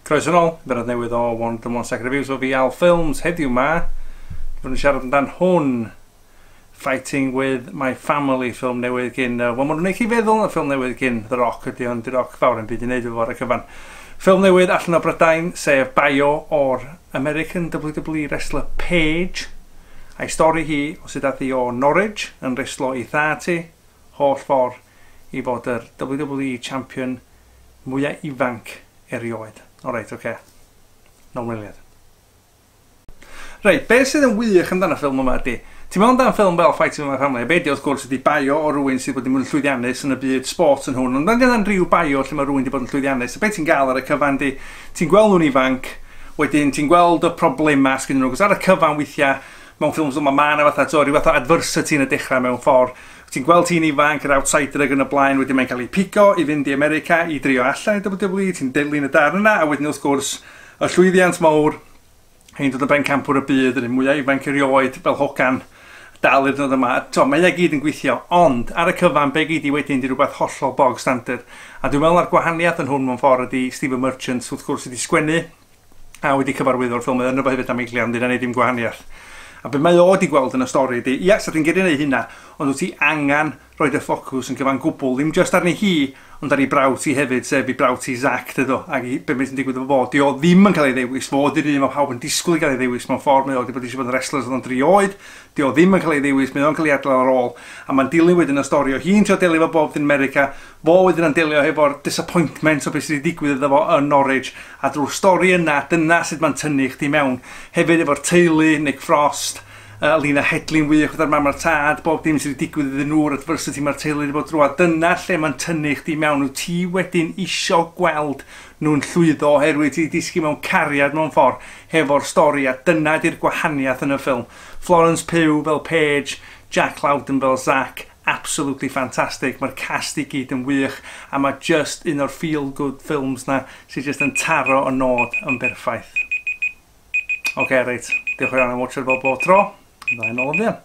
Croeso nôl, bennod newydd o 101 Second Reviews o fi Al Films. Heddiw ma, fyddwn ni'n siarad amdan hwn, Fighting With My Family, ffilm newydd gyn, wel, maen nhw'n gwneud chi feddwl na ffilm newydd gyn The Rock ydy, ond The Rock fawr yn byd i wneud efo ar y cyfan. Ffilm newydd allan o Brydain, sef bio o'r American WWE wrestler Paige, a'i stori hi o sut ath hi o Norwich yn reslo i thad hi, holl ffordd i fod yr WWE champion mwyaf ifanc erioed. Alright, oce. Okay. Nôl mewn eiliad. Reit, beth sydd yn wych amdano ffilm yma ydy, ti'n meddwl amdano ffilm fel Fighting With My Family, a be di wrth gwrs ydy bio o rywun sydd wedi bod yn llwyddiannus yn y byd sport yn hwn, ond mae'n rhyw bio lle mae rhywun wedi bod yn llwyddiannus, a beth ti'n gael ar y cyfan di, ti'n gweld nhw'n ifanc, wedyn ti'n gweld y problemau sgyn nhw, cos ar y cyfan weithiau, mewn ffilms yma, mae yna fatha, to, rhyw fath o adversity yn y dechrau mewn ffordd. Ti'n gweld ti'n ifanc, yr outsider ac yn y blaen, wedyn mae'n cael ei pigo i fynd i America i drio allan i WWE, ti'n dilyn y darn yna, a wedyn wrth gwrs, y llwyddiant mawr, hi'n dod yn bencampwr y byd, yr un mwyaf ifanc erioed, fel hogan, dal i'r dod yma. To, mae e gyd yn gweithio, ond ar y cyfan, be gyd i wedyn di rhywbeth hollol bog standard. A dwi'n meddwl ar gwahaniaeth yn hwn mewn ffordd ydy Stephen Merchant, wrth gwrs, wedi sgwennu a wedi cyfarwyddo'r ffilm, yno fo hefyd am eiliad, ond dyna ddim gwahaniaeth. A be mae o wedi gweld yn y stori ydy, ia, sa ti'n gyrru neud hynna, ond wyt ti angen rhoi dy ffocws yn gyfan gwbl, ddim just arni hi, ond ar ei brawd hi hefyd, sef ei brawd hi Zac, dydw, ac i be sy'n digwydd efo fo. Di o ddim yn cael ei ddewis, fo di'r un mae pawb yn disgwyl i gael ei ddewis mewn ffordd, mae o wedi bod eisiau bod yn wrestler oedd o'n 3 oed, di o ddim yn cael ei ddewis, mae o'n cael ei adael ar ôl, a mae'n dilyn wedyn y stori o hi'n trio delio efo bob dim America, fo wedyn yn delio hefo'r disappointment o beth sydd wedi digwydd iddo fo yn Norwich, a drwy'r stori yna, dyna sut mae'n tynnu chdi mewn. Hefyd efo'r teulu, Nick Frost, Lena Headley'n wych gyda'r mam a'r tad, bob dim sydd wedi digwydd iddyn nhw'r adversity mae'r teulu wedi bod drwodd. Dyna lle mae'n tynnu chdi mewn. Wyt ti wedyn isio gweld nhw'n llwyddo oherwydd ti wedi disgyn mewn cariad mewn ffordd hefo'r stori, a dyna di'r gwahaniaeth yn y ffilm. Florence Pugh fel Paige, Jack Lowden fel Zac, absolutely fantastic. Mae'r cast i gyd yn wych, a mae just un o'r feel-good films na sydd just yn taro y nod yn berffaith. Oce, okay, reit. Diolch yn fawr am watchad fel bob tro. Fydda i'n ôl yn fuan.